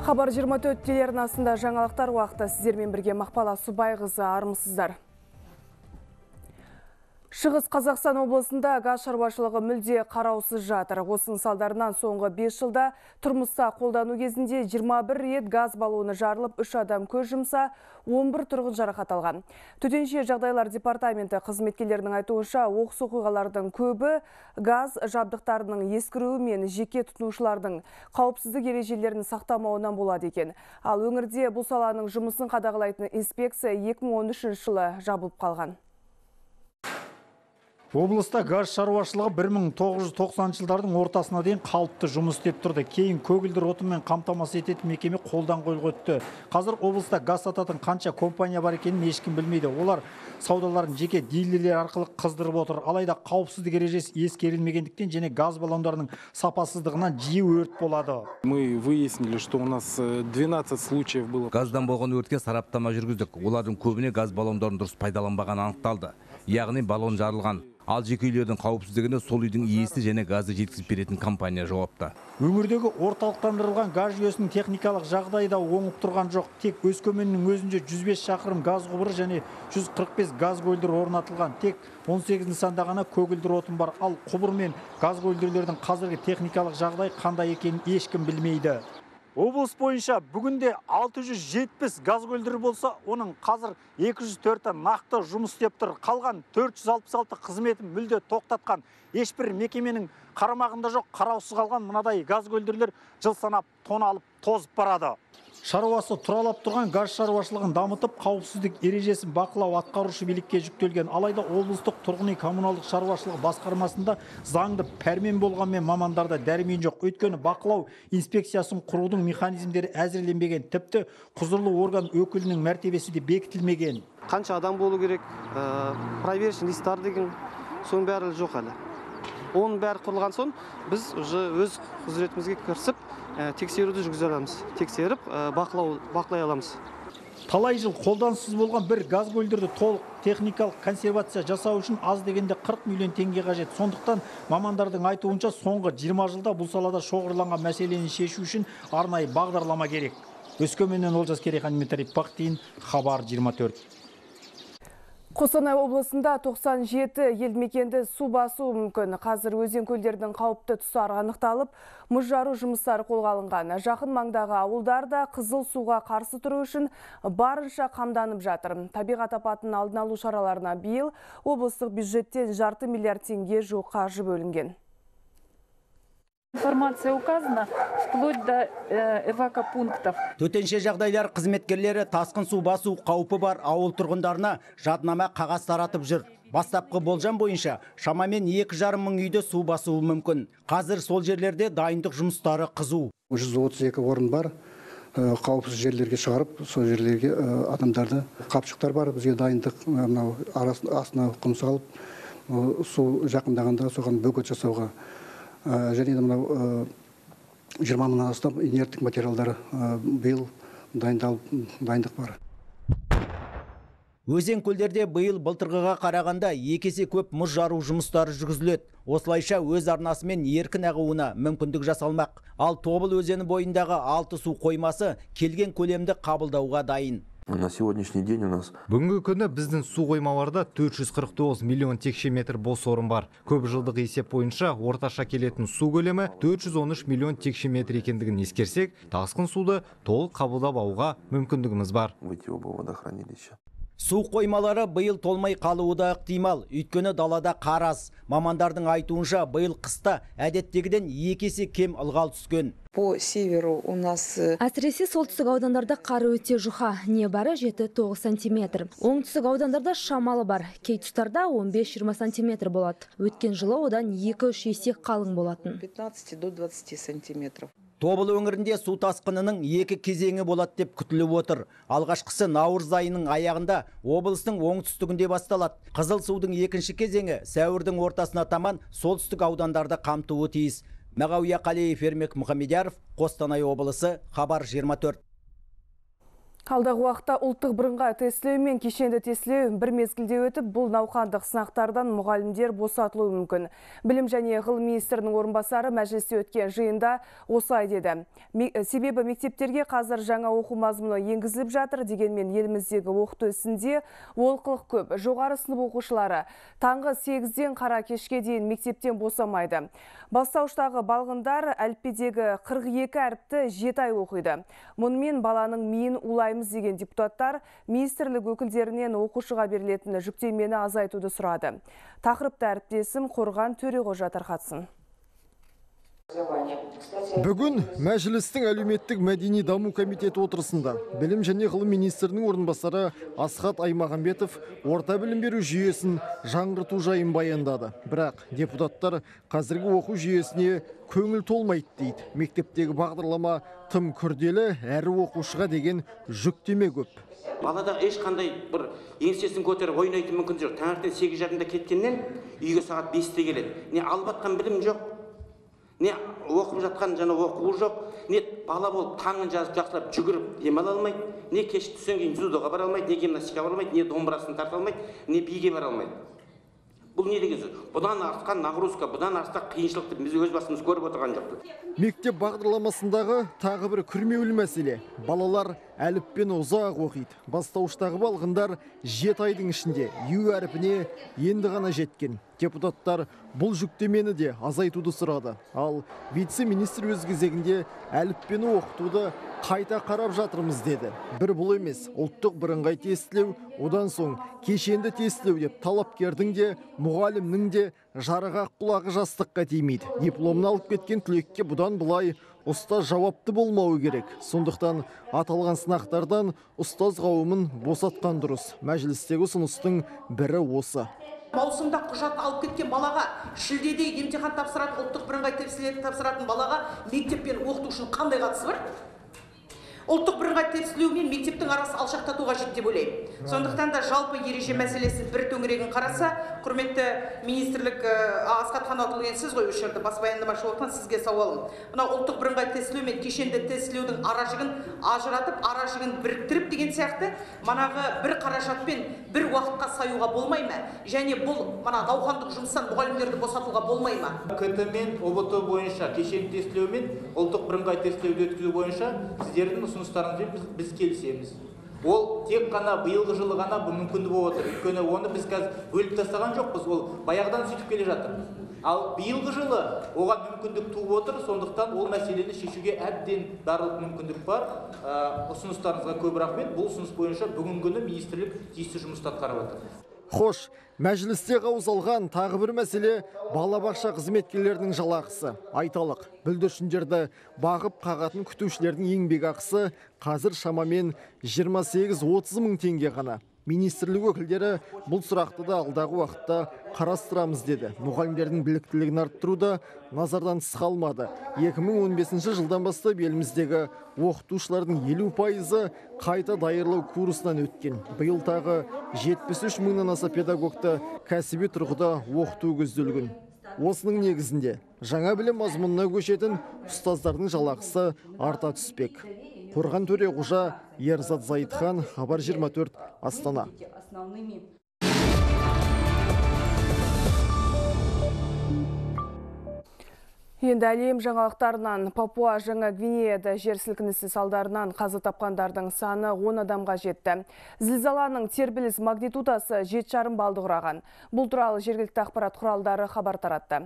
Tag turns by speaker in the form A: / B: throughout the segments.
A: Хабар 24 телеарнасында жаңалықтар уақыты сіздермен бірге Мақпала Субайқызы, армысыздар. Шығыс Қазақстан облысында газ шаруашылығы мүлде қараусыз жатыр. Осының салдарынан соңғы 5 жылда тұрмыста қолдану кезінде 21 рет газ баллоны жарылып, 3 адам көз жұмса, 11 тұрғын жарақат алған. Төтенше жағдайлар департаменті қызметкерлерінің айтуынша, оқыс оқиғалардың көбі газ жабдықтарының ескіруі мен жеке тұтынушылардың қауіпсіздік ережелерін сақтамауынан болады екен. Ал өңірде бұл саланың жұмысын қадағалайтын инспекция 2013 жылы жабылып қалған.
B: Облыста газ шаруашылығы 1990 жылдардың ортасына дейін қалыпты жұмыс істеп тұрды. Кейін көгілдір отынмен қамтамасыз ететін мекеме қолдан қойылып өтті. Қазір облыста газ сататын қанша компания бар екенін ешкім білмейді. Олар саудаларын жеке дилерлер арқылы қыздырып отыр. Алайда қауіпсіздік ережесі ескерілмегендіктен және газ баллондарының сапасыздығынан жиі өрт болады.
C: Мы выяснили, что у нас 12 случаев было.
D: Газдан болған өртке сараптама жүргіздік. Олардың көбіне газ баллондарын дұрыс пайдаланбағаны анықталды. Яғни баллон жарылған. Ал жеке үйлердің қауіпсіздігіне сол үйдің иесі және газды жеткізіп беретін компания жауапты.
B: Өңірдегі орталықтандырылған газ жүйесінің техникалық жағдайы да оңып тұрған жоқ. Тек Өскеменнің өзінде 105 шақырым газ құбыры және 145 газ көлдері орнатылған. Тек 18 нысанда ғана көгілдір отын бар. Ал құбыр мен газ көлдерлердің қазіргі техникалық жағдай қандай екенін ешкім білмейді. Облыс бойынша бүгінде 670 газ көлдері болса, оның қазір 204-і нақты жұмыс істеп тұр. Қалған 466 қызметін мүлде тоқтатқан. Ешбір мекеменің қарамағында жоқ, қараусыз қалған мынадай газ көлдерлер жыл санап тоналып тозып барады. Шаруасы тұралап тұрған газ шаруашылығын дамытып, қауіпсіздік ережесін бақылау атқарушы билікке жүктелген. Алайда облыстық тұрғын үй коммуналдық шаруашылығы басқармасында заңды пәрмен болғанмен мамандарда дәрмен жоқ. Өйткені бақылау инспекциясын құрудың механизмдері әзірленбеген. Тіпті құзырлы орган өкілінің мәртебесі де бекітілмеген.
E: Қанша адам болу керек, проверочный листтар деген соның бәрі жоқ әлі. Оның бәрі құрылған соң біз өз құзыретімізге кірісіп тексеруді жүргізе аламыз. Тексеріп бақылай аламыз.
B: Талай жыл қолдансыз болған бір газ көлдерді толық техникалық консервация жасау үшін аз дегенде 40 миллион теңге қажет. Сондықтан мамандардың айтуынша соңғы 20 жылда бұл салада шоғырланған мәселені шешу үшін арнайы бағдарлама керек. Өскеменнен Олжас Керейхан, Дмитрий Пахтин, Хабар 24.
A: Қостанай облысында 97 елді мекенді су басу мүмкін. Қазір өзен көлдердің қауіпті тұстары анықталып, мұз жару жұмыстары қолға алынған. Жақын маңдағы ауылдарда қызыл суға қарсы тұру үшін барынша қамданып жатыр. Табиғат апатын алдын алу шараларына биыл облыстық бюджеттен жарты миллиард теңге жуық қаржы бөлінген.
F: Информация указана вплоть до эвакопунктов.
G: Төтенше жағдайлар қызметкерлері тасқын су басу қаупі бар ауыл тұрғындарына жаднама қағаз таратып жүр. Бастапқы болжам бойынша шамамен 2,5 мың үйде су басуы мүмкін. Қазір сол жерлерде дайындық жұмыстары қызу.
H: 132 орын бар. Қауіпсіз жерлерге шығарып, сол жерлерге адамдарды қапшықтар бар. Бізге дайындық астына құм салып, су жақындағанда соған бөгет жасауға және мынау 20 мыңнан астам инерттік материалдар биыл дайындық бар.
G: Өзен көлдерде биыл былтырғыға қарағанда 2 есе көп мұз жару жұмыстары жүргізіледі. Осылайша өз арнасымен еркін ағуына мүмкіндік жасалмақ. Ал Тобыл өзені бойындағы 6 су қоймасы келген көлемді қабылдауға дайын.
I: На сегодняшний день у нас
B: Бүгінгі күні біздің су қоймаларда 449 миллион текше метр бос орын бар. Көп жылдық есеп бойынша орташа келетін су көлемі 413 миллион текше метр екендігін ескерсек, тасқын суды толық қабылдап алуға мүмкіндігіміз бар.
I: выйти оба водохранилища.
G: Су қоймалары биыл толмай қалуы да ықтимал, өйткені далада қар аз. Мамандардың айтуынша биыл қыста әдеттегіден 2 есе кем ылғал түскен.
J: По северу у нас
K: әсіресе солтүстік аудандарда қар өте жұқа, небары 7-9 сантиметр. Оңтүстік аудандарда шамалы бар, кей тұстарда 15-20 сантиметр болады. Өткен жылы одан 2-3 есе қалың болатын.
J: 15 до 20 сантиметров.
G: Тобыл өңірінде су тасқынының 2 кезеңі болады деп күтіліп отыр. Алғашқысы наурыз айының аяғында облыстың оңтүстігінде басталады. Қызыл судың екінші кезеңі сәуірдің ортасына таман солтүстік аудандарды қамтуы тиіс. Мағауия Қалиев, Ермек Мұхамедияров, Қостанай облысы, Хабар 24.
A: Алдағы уақытта ұлттық бірыңғай тестілеу мен кешенді тестілеу бір мезгілде өтіп, бұл науқандық сынақтардан мұғалімдер босатылуы мүмкін. Білім және ғылым министрінің орынбасары мәжілісте өткен жиында осылай деді. Себебі мектептерге қазір жаңа оқу мазмұны енгізіліп жатыр, дегенмен еліміздегі оқыту ісінде олқылық көп. Жоғары сынып оқушылары таңғы 8-ден қара кешке дейін мектептен босамайды. Бастауыштағы балғындар әліппедегі 42 әріпті 7 ай оқиды. Мұнымен баланың миын улаймыз деген депутаттар министрлік өкілдерінен оқушыға берілетін жүктемені азайтуды сұрады. Тақырыпты әріптесім Қорған Төреғожа тарқатсын.
L: Бүгін мәжілістің әлеуметтік мәдени даму комитеті отырысында білім және ғылым министрінің орынбасары Асхат Аймағамбетов орта білім беру жүйесін жаңғырту жайын баяндады. Бірақ депутаттар қазіргі оқу жүйесіне көңіл толмайды дейді. Мектептегі бағдарлама тым күрделі, әрі оқушыға деген жүктеме көп.
M: Балада ешқандай бір еңсесін көтеріп ойнайтын мүмкін жоқ. Таңертең 8:30-да кеткеннен үйге сағат 5-те келеді. Не алып жатқан білім жоқ, не оқып жатқан жаңа оқуы жоқ, не бала болып таңын жазып жақсылап жүгіріп демала алмайды, не кеш түстен кейін дзюдоға бара алмайды, не гимнастика бара алмайды, не домбырасын тарта алмайды, не биге бара алмайды. Бұл не деген сөз? Бұдан артқан нагрузка, бұдан артқан қиыншылықты біз өз басымыз көріп отырған жоқпыз.
L: Мектеп бағдарламасындағы тағы бір күрмеулі мәселе. Балалар әліппені ұзақ оқиды. Бастауыштағы балғындар 7 айдың ішінде ю әріпіне енді ғана жеткен. Депутаттар бұл жүктемені де азайтуды сұрады. Ал вице-министр өз кезегінде әліппені оқытуды қайта қарап жатырмыз деді. Бір бұл емес, ұлттық бірыңғай тестілеу, одан соң кешенді тестілеу деп талапкердің де, мұғалімнің де жарыға құлағы жастыққа тимейді. Дипломын алып кеткен түлекке бұдан былай ұстаз жауапты болмауы керек. Сондықтан аталған сынақтардан ұстаз қауымын босатқан дұрыс. Мәжілістегі ұсыныстың бірі осы.
N: Маусымда құжат алып кеткен балаға, шілдеде емтихан тапсыратын, ұлттық бірыңғай тестілеуді тапсыратын балаға мектеппен оқытушының қандай қатысы бар? Ұлттық бірыңғай тестілеу мен мектептің арасы алшақтату қажет деп ойлаймын. Сондықтан да жалпы ереже мәселесі бір төңірегін қараса, құрметті министрлік Асхат Қанатұлы, сіз ғой осы жерде бас баяндамашы болған, сізге сауалым. Мына ұлттық бірыңғай тестілеу мен кешенді тестілеудің аражығын ажыратып, аражығын біріктіріп деген сияқты, манағы бір қаражатпен бір уақытқа саюға болмай ма? Және бұл мана науқандық жұмыстан мұғалімдерді босатуға болмай ма?
O: КТ мен ОБТ бойынша кешенді тестілеу мен ұлттық бірыңғай тестілеуді өткізу бойынша сіздердің ұсыныстарыңызбен біз келісеміз. Ол тек қана биылғы жылы ғана бұл мүмкінді болып отыр. Өйткені оны біз қазір бөліп тастаған жоқпыз, ол баяғыдан сөйтіп келе жатыр. Ал биылғы жылы оған мүмкіндік туып отыр, сондықтан ол мәселені шешуге әбден барлық мүмкіндік бар. Ұсыныстарыңызға көп рахмет. Бұл ұсыныс бойынша бүгінгі күні министрлік тиісті жұмысты атқарып жатыр.
L: Хош, мәжілісте қаузалған тағы бір мәселе балабақша қызметкерлерінің жалақысы. Айталық, бүлдіршіндерді бағып қағатын күтушілердің еңбек ақысы қазір шамамен 28-30 мың теңге ғана. Министрлік өкілдері бұл сұрақты да алдағы уақытта қарастырамыз деді. Мұғалімдердің біліктілігін арттыруда назардан тыс қалмады. 2015 жылдан бастап еліміздегі оқытушылардың 50% қайта даярлау курсынан өткен. Биыл тағы 73 мыңнан аса педагогты кәсіби тұрғыда оқыту көзделген. Осының негізінде жаңа білім мазмұнына көшетін ұстаздардың жалақысы арта түспек. Қорған Төреғожа, Ерзат Зайытхан, Хабар 24, Астана.
A: Енді әлем жаңалықтарынан Папуа Жаңа Гвинеяда жер сілкінісі салдарынан қаза тапқандардың саны 10 адамға жетті. Зілзаланың тербеліс магнитудасы 7,5 балды құраған. Бұл туралы жергілікті ақпарат құралдары хабар таратты.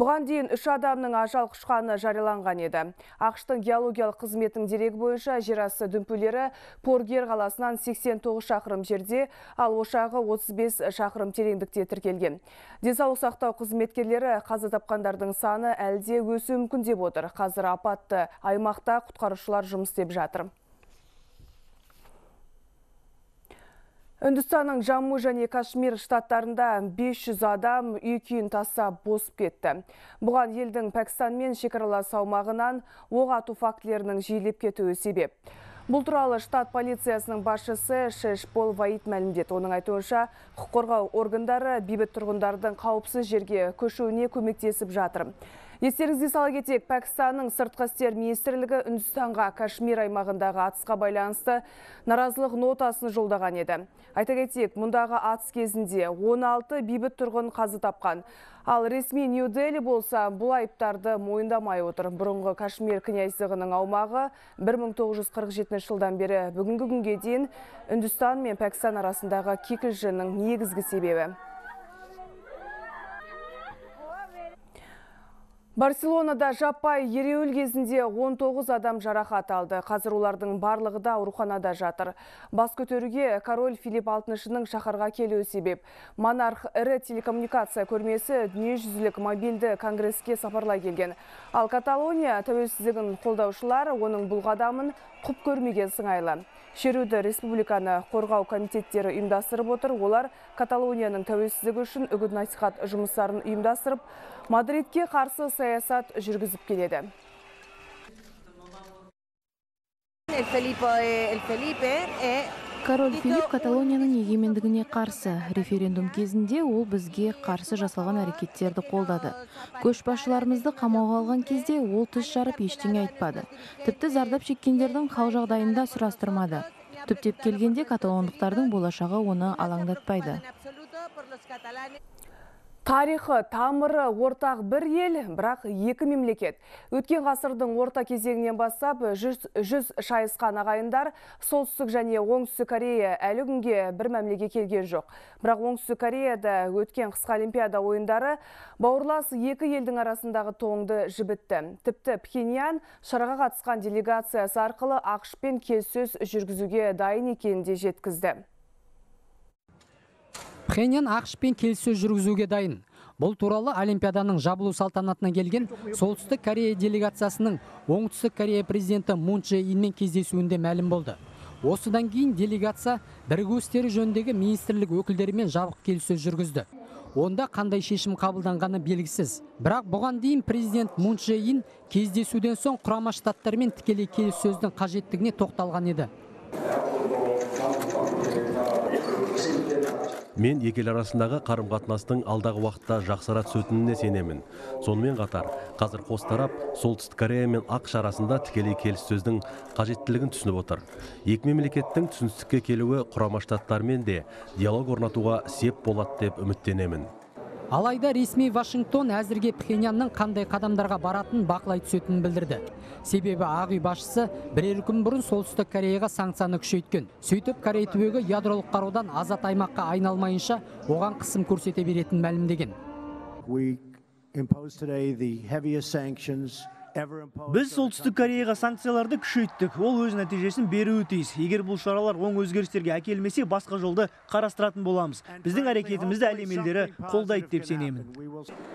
A: Бұған дейін 3 адамның ажал құшқаны жарияланған еді. ақш-тың геологиялық қызметінің дерегі бойынша жерасты дүмпулері Поргер қаласынан 89 шақырым жерде, ал ошағы 35 шақырым тереңдікте тіркелген. Денсаулық сақтау қызметкерлері қаза тапқандардың саны әлде өсуі мүмкін деп отыр. Қазір апатты аймақта құтқарушылар жұмыс істеп жатыр. Үндістанның Джамму және Кашмир штаттарында 500 адам үй күйін тастап босып кетті. Бұған елдің Пәкістанмен шекаралас аумағынан оқ ату фактілерінің жиілеп кетуі себеп. Бұл туралы штат полициясының басшысы Шешпол Ваид мәлімдеді. Оның айтуынша, құқық қорғау органдары бейбіт тұрғындардың қауіпсіз жерге көшуіне көмектесіп жатыр. Естеріңізге сала кетейік, Пәкістанның сыртқы істер министрлігі Үндістанға Кашмир аймағындағы атысқа байланысты наразылық нотасын жолдаған еді. Айта кетейік, мұндағы атыс кезінде 16 бейбіт тұрғын қаза тапқан. Ал ресми Нью-Дели болса, бұл айыптарды мойындамай отыр. Бұрынғы Кашмир князьдігінің аумағы 1947 жылдан бері бүгінгі күнге дейін Үндістан мен Пәкістан арасындағы кикілжіңнің негізгі себебі. Барселонада жаппай ереуіл кезінде 19 адам жарақат алды. Қазір олардың барлығы да ауруханада жатыр. Бас көтеруге король Филипп VI-ның шаһарға келуі себеп. Монарх ірі телекоммуникация көрмесі дүниежүзілік мобильді конгресске сапарлай келген. Ал Каталония тәуелсіздігін қолдаушылар оның бұл қадамын құп көрмеген сыңайлы. Шеруді республиканы қорғау комитеттері ұйымдастырып отыр. Олар Каталонияның тәуелсіздігі үшін үгіт-насихат жұмыстарын ұйымдастырып, Мадридке қарсы саясат жүргізіп келеді.
P: Король Филипп Каталонияның егемендігіне қарсы. Референдум кезінде ол бізге қарсы жасалған әрекеттерді қолдады. Көшбасшыларымызды қамауға алған кезде ол тіс жарып ештеңе айтпады. Тіпті зардап шеккендердің хал жағдайында сұрастырмады. Түптеп келгенде каталондықтардың болашағы оны алаңдатпайды.
A: Тарихы, тамыры ортақ бір ел, бірақ екі мемлекет. Өткен ғасырдың орта кезеңінен бастап жүз шайысқан ағайындар Солтүстік және Оңтүстік Корея әлі күнге бір мәмлеге келген жоқ. Бірақ Оңтүстік Кореяда өткен қысқы Олимпиада ойындары бауырлас екі елдің арасындағы тоңды жібітті. Тіпті Пхеньян шараға қатысқан делегациясы арқылы ақш-пен келіссөз жүргізуге дайын екенін де жеткізді.
Q: Пхеньян ақш-пен келіссөз жүргізуге дайын. Бұл туралы Олимпиаданың жабылу салтанатына келген Солтүстік Корея делегациясының Оңтүстік Корея президенті Мун Чжэ Инмен кездесуінде мәлім болды. Осыдан кейін делегация бірігу істері жөніндегі министрлік өкілдерімен жабық келіссөз жүргізді. Онда қандай шешім қабылданғаны белгісіз. Бірақ бұған дейін президент Мун Чжэ Ин кездесуден соң Құрама Штаттармен тікелей келіссөздің қажеттігіне тоқталған еді.
R: Мен екі ел арасындағы қарым-қатынастың алдағы уақытта жақсара түсетініне сенемін. Сонымен қатар, қазір қос тарап Солтүстік Корея мен ақш арасында тікелей келіссөздің қажеттілігін түсініп отыр. Екі мемлекеттің түсіністікке келуі Құрама Штаттармен де диалог орнатуға сеп болады деп үміттенемін.
Q: Алайда ресми Вашингтон әзірге Пхеньянның қандай қадамдарға баратын бақылай түсетінін білдірді. Себебі Ақ үй басшысы бірер күн бұрын Солтүстік Кореяға санкцияны күшейткен. Сөйтіп Корей түбегі ядролық қарудан азат аймаққа айналмайынша оған қысым көрсете беретін мәлімдеген.
S: Біз Солтүстік Кореяға санкцияларды күшейттік. Ол өз нәтижесін беруі тиіс. Егер бұл шаралар оң өзгерістерге әкелмесе, басқа жолды қарастыратын боламыз. Біздің әрекетімізді әлем елдері қолдайды деп сенемін.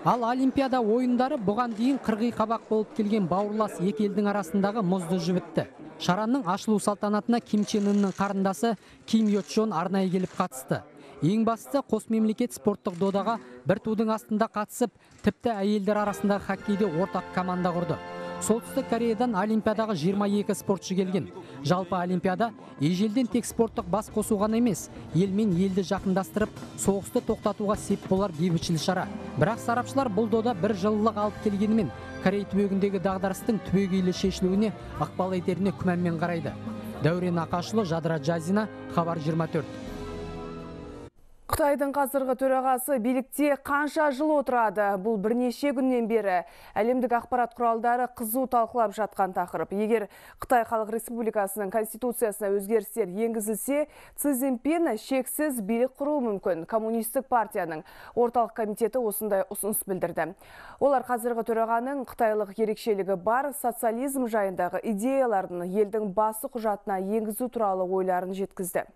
Q: Ал Олимпиада ойындары бұған дейін қырғи қабақ болып келген бауырлас екі елдің арасындағы мұзды жібітті. Шараның ашылу салтанатына Ким Чен Ынның қарындасы Ким Йо Чон арнайы келіп қатысты. Ең бастысы қос мемлекет спорттық додаға бір тудың астында қатысып, тіпті әйелдер арасындағы хоккейде ортақ команда құрды. Солтүстік Кореядан Олимпиадаға 22 спортшы келген. Жалпы Олимпиада ежелден тек спорттық бас қосу ғана емес, ел мен елді жақындастырып, соғысты тоқтатуға сеп болар бейбітшіл шара. Бірақ сарапшылар бұл дода бір жылылық алып келгенімен, Корей түбегіндегі дағдарыстың түбегейлі шешілуіне ықпал етеріне күмәнмен қарайды. Дәурен Ақашұлы, Жадыра Жазина, Хабар 24.
A: Қытайдың қазіргі төрағасы билікте қанша жыл отырады? Бұл бірнеше күннен бері әлемдік ақпарат құралдары қызу талқылап жатқан тақырып. Егер Қытай Халық Республикасының конституциясына өзгерістер енгізілсе, Си Цзиньпин шексіз билік құруы мүмкін. Коммунистік партияның орталық комитеті осындай ұсыныс білдірді. Олар қазіргі төрағаның қытайлық ерекшелігі бар социализм жайындағы идеяларын елдің басы құжатына енгізу туралы ойларын жеткізді.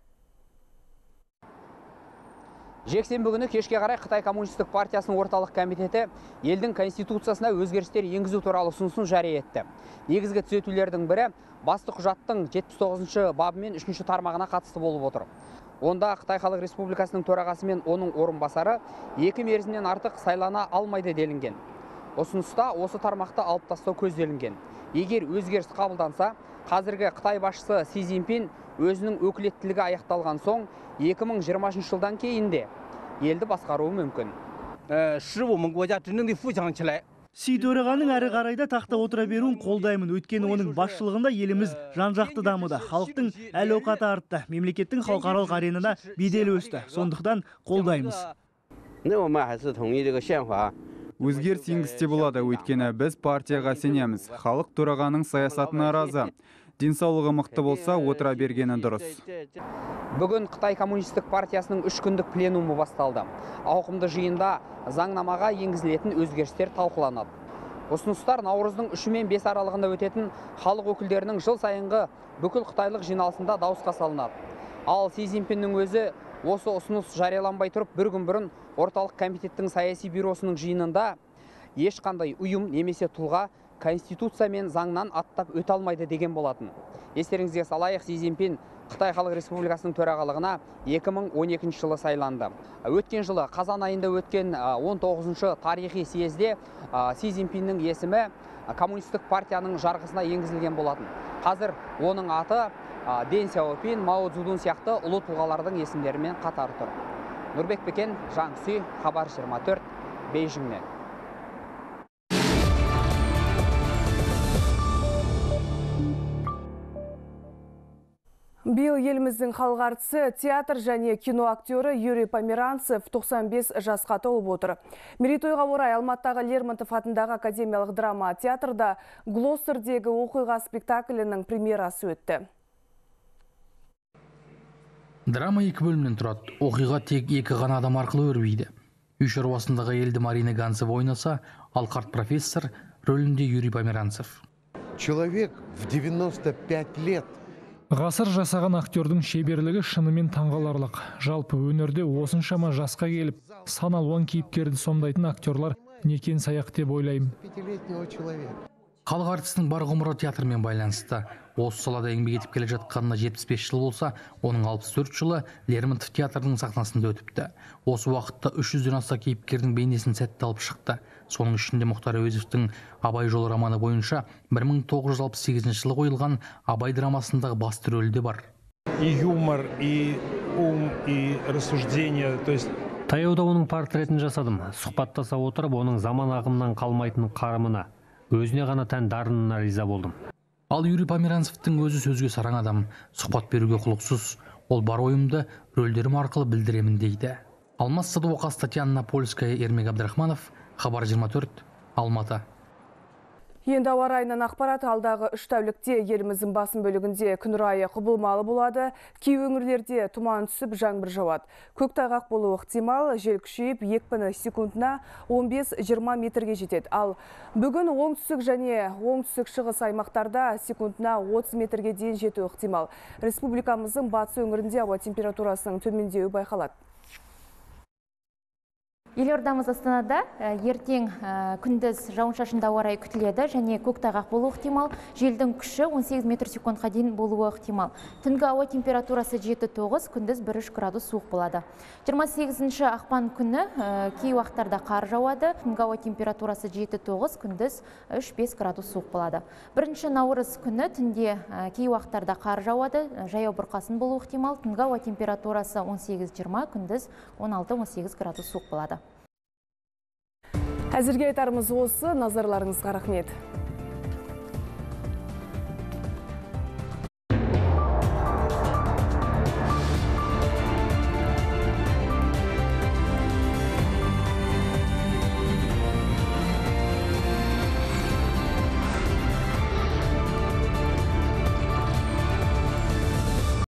T: Жексенбі күні кешке қарай Қытай коммунистік партиясының орталық комитеті елдің конституциясына өзгерістер енгізу туралы ұсынысын жария етті. Негізгі түзетулердің бірі басты құжаттың 79 бабы мен 3 тармағына қатысты болып отыр. Онда Қытай Халық Республикасының төрағасы мен оның орынбасары 2 мерзімнен артық сайлана алмайды делінген. Ұсыныста осы тармақты алып тастау көзделінген. Егер өзгеріс қабылданса, қазіргі Қытай басшысы Си Цзиньпин өзінің өкілеттілігі аяқталған соң 2020 жылдан кейін де елді басқаруы мүмкін.
S: Си төрағаның әрі қарайда тақта отыра беруін қолдаймын. Өйткені оның басшылығында еліміз жан-жақты дамыды. Халықтың әл-ауқаты артты. Мемлекеттің халықаралық аренада беделі өсті. Сондықтан қолдаймыз.
U: Өзгеріс енгізсе болады, өйткені біз партияға сенеміз. Халық төрағаның саясатына разы. Денсаулығы мықты болса, отыра бергені дұрыс.
T: Бүгін Қытай коммунистік партиясының 3 күндік пленумы басталды. Ауқымды жиында заңнамаға енгізілетін өзгерістер талқыланады. Ұсыныстар наурыздың 3 мен 5 аралығында өтетін халық өкілдерінің жыл сайынғы бүкіл қытайлық жиналысында дауысқа салынады. Ал Си Цзиньпиннің өзі осы ұсыныс жарияланбай тұрып, бір күн бұрын орталық комитеттің саяси бюросының жиынында ешқандай ұйым немесе тұлға Конституция мен заңнан аттап өте алмайды деген болатын. Естеріңізге салайық, Си Цзиньпин Қытай Халық Республикасының төрағалығына 2012 жылы сайланды. Өткен жылы қазан айында өткен 19-шы тарихи съезде Си Цзиньпиннің есімі коммунистік партияның жарғысына енгізілген болатын. Қазір оның аты Дэн Сяопин, Мао Цзэдун сияқты ұлы тұлғалардың есімдерімен қатар тұр. Нұрбек Бекен, Жан Сүй, Хабар 24, Бейжіңнен.
A: Биыл еліміздің халық әртісі, театр және кино актері Юрий Померанцев 95 жасқа толып отыр. Мерейтойға орай Алматыдағы Лермонтов атындағы академиялық драма театрда Глоссердегі оқиға спектаклінің премьерасы өтті.
V: Драма 2 бөлімнен тұрады. Оқиға тек 2 ғана адам арқылы өрбиді. Үй шаруасындағы елді Марина Ганцева ойнаса, ал қарт профессор рөлінде Юрий Померанцев.
W: Человек в 95 лет.
X: Ғасыр жасаған актердің шеберлігі шынымен таңғаларлық. Жалпы өнерде осыншама жасқа келіп, сан алуан кейіпкерді сомдайтын актерлар некен саяқ деп ойлаймын.
V: Халық әртісінің бар ғұмыры театрмен байланысты. Осы салада еңбек етіп келе жатқанына 75 жыл болса, оның 64 жылы Лермонтов театрының сахнасында өтіпті. Осы уақытта 300-ден аса кейіпкердің бейнесін сәтті алып шықты. Соның ішінде Мұхтар Әуезовтің Абай жолы романы бойынша 1968 жылы қойылған Абай драмасындағы басты рөлде бар.
X: И юмор, и ум, и рассуждение, то есть
Y: таяуда оның портретін жасадым. Сұхбаттаса отырып, оның заман ағымынан қалмайтын қарымына, өзіне ғана тән дарынына риза болдым.
V: Ал Юрий Померанцевтің өзі сөзге сараң адам, сұхбат беруге құлықсыз. Ол бар ойымды рөлдерім арқылы білдіремін дейді. Алмас Садуақас, Татьяна Польская, Ермек Абдрахманов, Хабар 24, Алматы.
A: Енді ауа райынан ақпарат. Алдағы 3 тәулікте еліміздің басым бөлігінде күн райы құбылмалы болады. Кей өңірлерде тұман түсіп, жаңбыр жауады. Көктайғақ болуы ықтимал, жел күшейіп, екпіні секундына 15-20 метрге жетеді. Ал бүгін оңтүстік және оңтүстік шығыс аймақтарда секундына 30 метрге дейін жетуі ықтимал. Республикамыздың батыс өңірінде ауа температурасының төмендеуі байқалады.
Z: Елордамыз Астанада ертең күндіз жауын-шашынды ауа райы күтіледі және көктайғақ болуы ықтимал. Желдің күші 18 метр секундқа дейін болуы ықтимал. Түнгі ауа температурасы 7-9, күндіз 1-3 градус суық болады. 28 ақпан күні кей уақыттарда қар жауады. Түнгі ауа температурасы 7-9, күндіз 3-5 градус суық болады. 1 наурыз күні түнде кей уақыттарда қар жауады, жаяу бұрқасын болуы ықтимал. Түнгі ауа температурасы 18-20, күндіз 16-18 градус суық болады.
A: Әзірге айтарымыз осы, назарларыңызға рахмет.